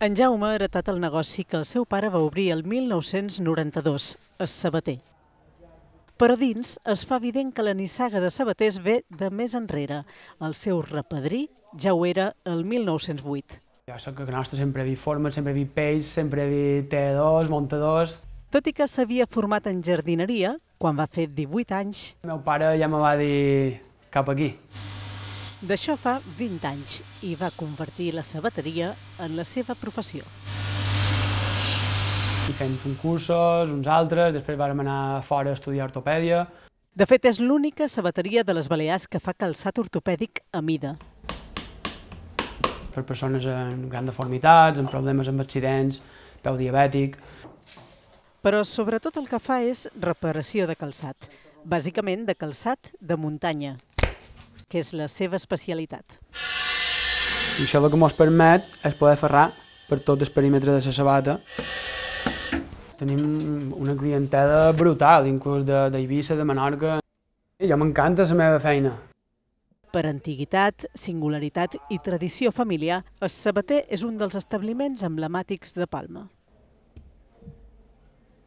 En Jaume ha heretat el negoci que el seu pare va obrir el 1992, el sabater. Però dins es fa evident que la nissaga de sabaters ve de més enrere. El seu repadrí ja ho era el 1908. Jo soc a nostre, sempre he vist formes, sempre he vist peix, sempre he vist teadors, muntadors. Tot i que s'havia format en jardineria, quan va fer 18 anys... El meu pare ja me va dir cap aquí. D'això fa 20 anys i va convertir la sabateria en la seva professió. I fent uns cursos, uns altres, després vam anar fora a estudiar ortopèdia. De fet, és l'única sabateria de les Balears que fa calçat ortopèdic a mida. Per persones amb grans deformitats, amb problemes amb accidents, peu diabètic. Però sobretot el que fa és reparació de calçat, bàsicament de calçat de muntanya, que és la seva especialitat. I això el que ens permet és poder ferrar per tot el perímetre de la sabata. Tenim una clientela brutal, inclús d'Eivissa, de Menorca. Jo m'encanta la meva feina. Per antiguitat, singularitat i tradició familiar, el Sabater és un dels establiments emblemàtics de Palma.